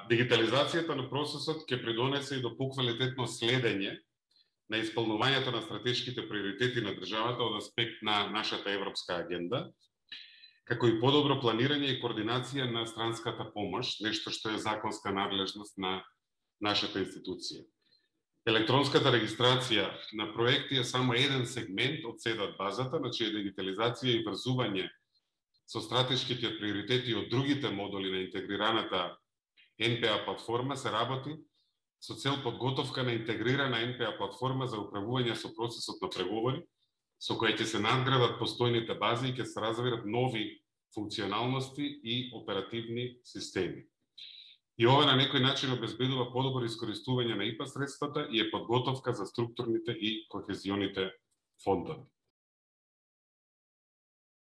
Дигитализацијата на процесот ќе придонесе и до поквалитетно следење на исполнувањето на стратешките приоритети на државата од аспект на нашата европска агенда, како и подобро планирање и координација на странската помош, нешто што е законска надлежност на нашата институција. Електронската регистрација на проекти е само еден сегмент од СЕДАТ базата, на чија дигитализација и врзување со стратешките приоритети од другите модули на интегрираната НПА платформа се работи со цел подготовка на интегрирана НПА платформа за управување со процесот на преговори, со која ќе се надградат постојните бази и ќе се развиват нови функционалности и оперативни системи. И ова на некој начин обезбедува подобро искористување на ИПА средствата и е подготовка за структурните и кохезионите фондови.